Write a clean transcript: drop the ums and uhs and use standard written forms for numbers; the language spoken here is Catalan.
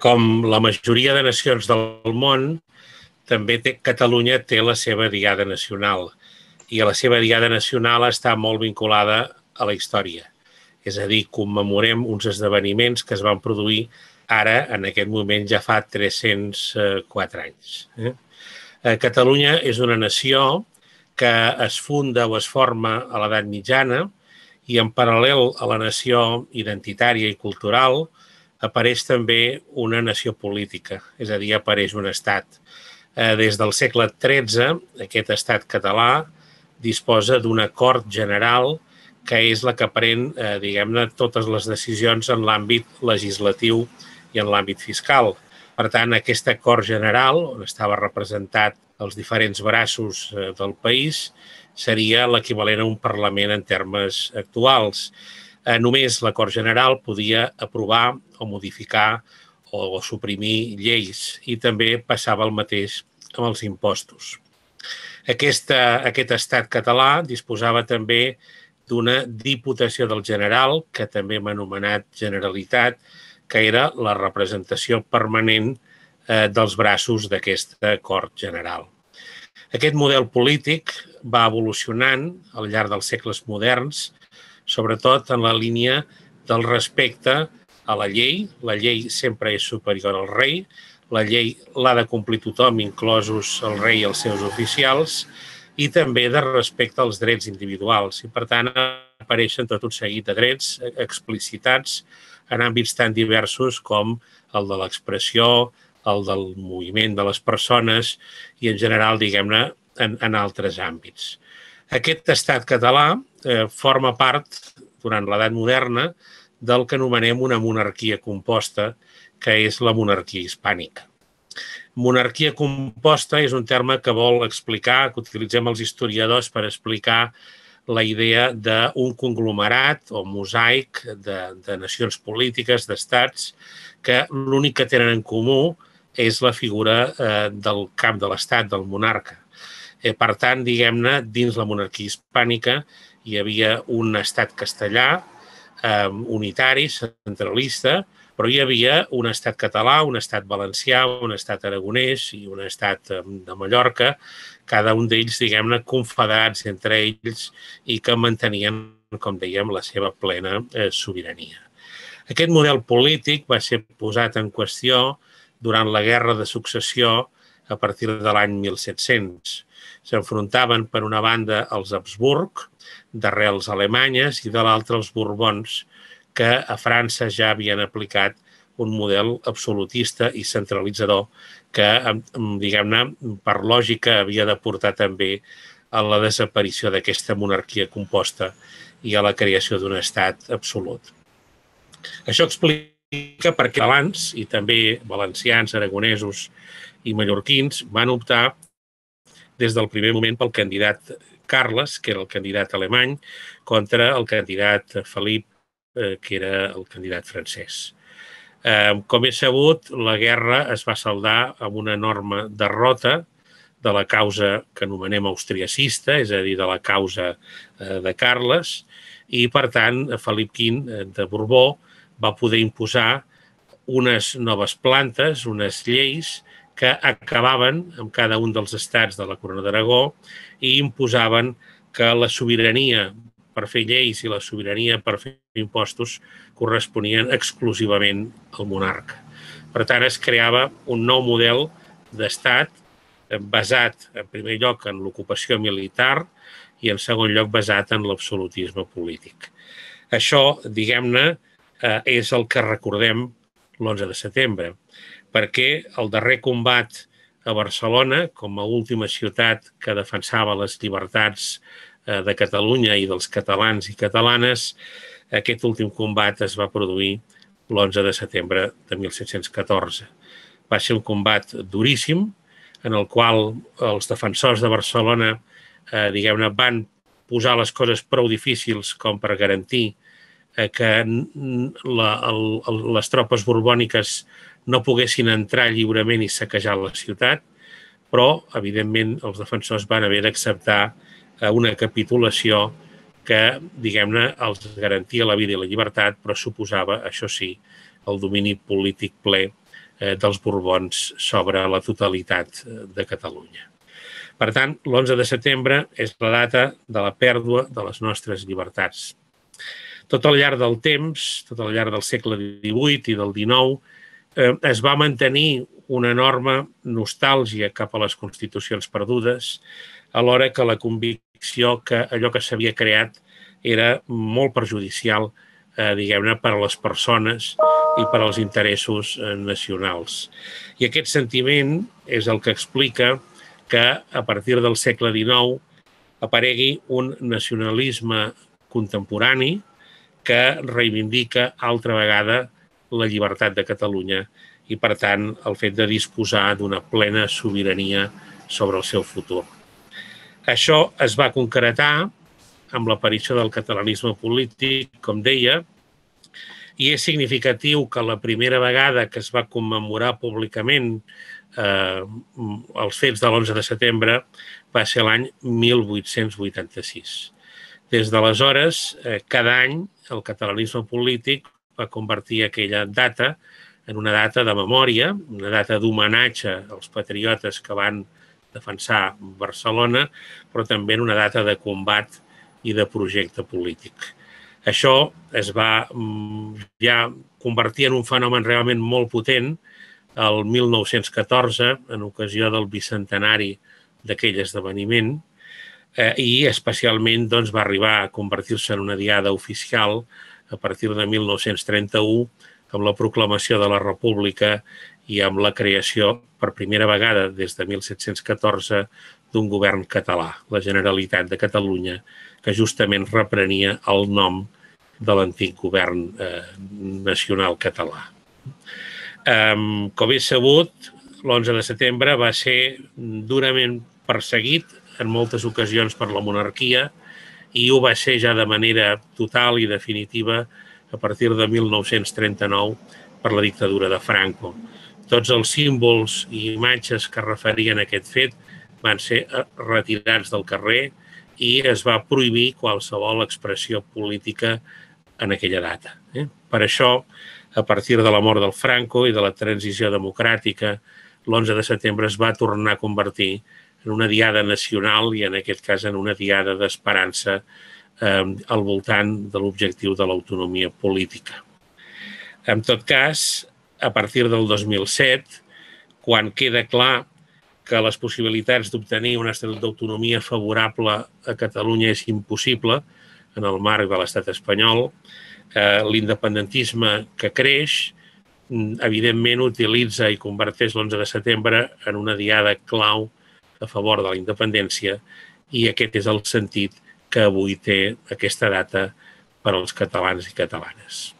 Com la majoria de nacions del món, també Catalunya té la seva diada nacional i la seva diada nacional està molt vinculada a la història. És a dir, commemorem uns esdeveniments que es van produir ara, en aquest moment, ja fa 304 anys. Catalunya és una nació que es funda o es forma a l'edat mitjana i en paral·lel a la nació identitària i cultural apareix també una nació política, és a dir, apareix un estat. Des del segle XIII, aquest estat català disposa d'una cort general que és la que pren, diguem-ne, totes les decisions en l'àmbit legislatiu i en l'àmbit fiscal. Per tant, aquesta cort general, on estava representat els diferents braços del país, seria l'equivalent a un Parlament en termes actuals. Només la Cort General podia aprovar o modificar o suprimir lleis i també passava el mateix amb els impostos. Aquest estat català disposava també d'una Diputació del General, que també hem anomenat Generalitat, que era la representació permanent dels braços d'aquesta Cort General. Aquest model polític va evolucionant al llarg dels segles moderns, sobretot en la línia del respecte a la llei. La llei sempre és superior al rei. La llei l'ha de complir tothom, inclosos el rei i els seus oficials, i també de respecte als drets individuals. I, per tant, apareixen tot un seguit de drets explicitats en àmbits tan diversos com el de l'expressió, el del moviment de les persones i, en general, diguem-ne, en altres àmbits. Aquest estat català forma part, durant l'edat moderna, del que anomenem una monarquia composta, que és la monarquia hispànica. Monarquia composta és un terme que vol explicar, que utilitzem els historiadors per explicar la idea d'un conglomerat o mosaic de nacions polítiques, d'estats, que l'únic que tenen en comú és la figura del cap de l'estat, del monarca. Per tant, diguem-ne, dins la monarquia hispànica hi havia un estat castellà, unitari, centralista, però hi havia un estat català, un estat valencià, un estat aragonès i un estat de Mallorca, cada un d'ells, diguem-ne, confederats entre ells i que mantenien, com dèiem, la seva plena sobirania. Aquest model polític va ser posat en qüestió durant la Guerra de Successió a partir de l'any 1700. S'enfrontaven, per una banda, els Habsburg, d'arrels alemanyes, i de l'altra els Borbons, que a França ja havien aplicat un model absolutista i centralitzador que, diguem-ne, per lògica havia de portar també a la desaparició d'aquesta monarquia composta i a la creació d'un estat absolut. Això explica per què catalans i també valencians, aragonesos i mallorquins van optar des del primer moment pel candidat Carles, que era el candidat alemany, contra el candidat Felip, que era el candidat francès. Com és sabut, la guerra es va saldar amb una enorme derrota de la causa que anomenem austriacista, és a dir, de la causa de Carles, i, per tant, Felip V de Borbó va poder imposar unes noves plantes, unes lleis que acabaven amb cada un dels estats de la Corona d'Aragó i imposaven que la sobirania per fer lleis i la sobirania per fer impostos corresponien exclusivament al monarca. Per tant, es creava un nou model d'estat basat, en primer lloc, en l'ocupació militar i, en segon lloc, basat en l'absolutisme polític. Això, diguem-ne, és el que recordem l'11 de setembre, perquè el darrer combat a Barcelona, com a última ciutat que defensava les llibertats de Catalunya i dels catalans i catalanes, aquest últim combat es va produir l'11 de setembre de 1714. Va ser un combat duríssim, en el qual els defensors de Barcelona, diguem-ne, van posar les coses prou difícils com per garantir que les tropes borbòniques no poguessin entrar lliurement i saquejar la ciutat, però, evidentment, els defensors van haver d'acceptar una capitulació que, diguem-ne, els garantia la vida i la llibertat, però suposava, això sí, el domini polític ple dels Borbons sobre la totalitat de Catalunya. Per tant, l'11 de setembre és la data de la pèrdua de les nostres llibertats. Tot al llarg del temps, tot al llarg del segle XVIII i del XIX, es va mantenir una enorme nostàlgia cap a les constitucions perdudes, alhora que la convicció que allò que s'havia creat era molt perjudicial, diguem-ne, per a les persones i per als interessos nacionals. I aquest sentiment és el que explica que a partir del segle XIX aparegui un nacionalisme contemporani que reivindica altra vegada la llibertat de Catalunya i, per tant, el fet de disposar d'una plena sobirania sobre el seu futur. Això es va concretar amb l'aparició del catalanisme polític, com deia, i és significatiu que la primera vegada que es va commemorar públicament els fets de l'11 de setembre va ser l'any 1886. Des d'aleshores, cada any, el catalanisme polític va convertir aquella data en una data de memòria, una data d'homenatge als patriotes que van defensar Barcelona, però també en una data de combat i de projecte polític. Això es va ja convertir en un fenomen realment molt potent el 1914, en ocasió del bicentenari d'aquell esdeveniment, i especialment va arribar a convertir-se en una diada oficial a partir de 1931, amb la proclamació de la República i amb la creació, per primera vegada des de 1714, d'un govern català, la Generalitat de Catalunya, que justament reprenia el nom de l'antic govern nacional català. Com és sabut, l'11 de setembre va ser durament perseguit en moltes ocasions per la monarquia i ho va ser ja de manera total i definitiva a partir de 1939 per la dictadura de Franco. Tots els símbols i imatges que referien a aquest fet van ser retirats del carrer i es va prohibir qualsevol expressió política en aquella data. Per això, a partir de la mort del Franco i de la transició democràtica, l'11 de setembre es va tornar a convertir en una diada nacional i, en aquest cas, en una diada d'esperança al voltant de l'objectiu de l'autonomia política. En tot cas, a partir del 2007, quan queda clar que les possibilitats d'obtenir un estatut d'autonomia favorable a Catalunya és impossible en el marc de l'estat espanyol, l'independentisme que creix, evidentment utilitza i converteix l'11 de setembre en una diada clau a favor de la independència i aquest és el sentit que avui té aquesta data per als catalans i catalanes.